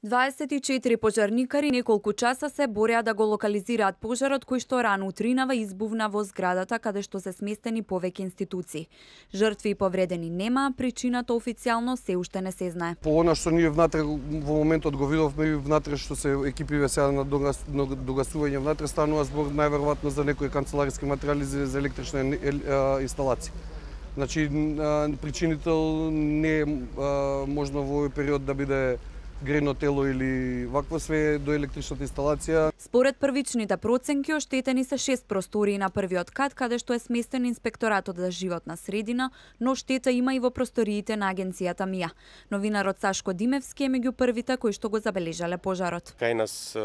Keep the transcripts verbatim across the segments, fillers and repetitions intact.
дваесет и четири пожарникари неколку часа се бореа да го локализираат пожарот кој што рано утринава избувна во зградата каде што се сместени повеќе институции. Жртви и повредени нема, причината официјално се уште не се знае. По она што ние внатре во моментот го видовме и внатре што се екипиве сега на догасување внатре станува збор најверојатно за некои канцелариски материјали за електрична инсталација. Значи причинител не е можно во овој период да биде грено тело или вакво, све до електричната инсталација. Според првичните проценки, оштетени се шест простории на првиот кат, каде што е сместен инспекторатот за животна средина, но штета има и во просториите на агенцијата МИА. Новинарот Сашко Димевски е меѓу првите кои што го забележале пожарот. Кај нас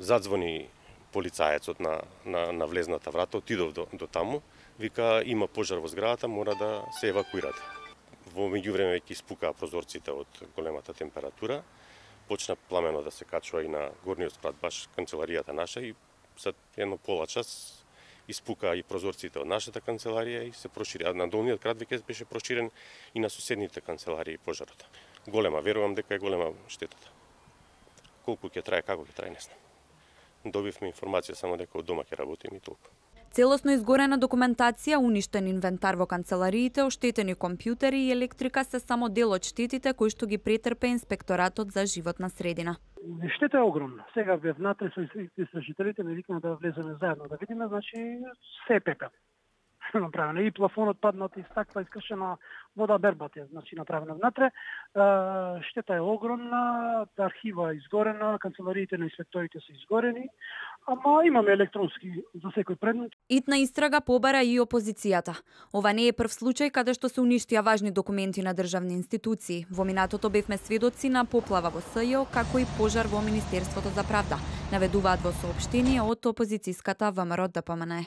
задзвони полицаецот на, на, на влезната врата, отидов до, до таму, вика има пожар во зградата, мора да се евакуирате. Во меѓувреме веќе испукаа прозорците од големата температура, почна пламено да се качува и на горниот спрат, баш канцеларијата наша, и за едно пола час испукаа и прозорците од нашата канцеларија и се прошири. А на долниот крат веќе беше проширен и на соседните канцеларии пожарот. Голема, верувам дека е голема штетата. Колку ќе трае, како ќе трае, не знам. Добивме информација само дека од дома ќе работиме и толку. Целосно изгорена документација, уништен инвентар во канцелариите, оштетени компјутери и електрика се само дел од штетите кои што ги претрпе инспекторатот за животна средина. Штета е огромна. Сега бе внатре со истражителите ме викна да влеземе заедно да видиме, значи се е пепел. Направено и плафонот паднат и стакла искршена вода бербат е, значи направена внатре. Штета е огромна, архива изгорена, канцелариите на инспекторите се изгорени, ама имаме електронски за секој предмет. Итна истрага побара и опозицијата. Ова не е прв случај каде што се уништија важни документи на државни институции. Во минатото бевме сведоци на поплава во СЈО, како и пожар во Министерството за правда, наведуваат во соопштение од опозицијската ВМРО ДПМНЕ.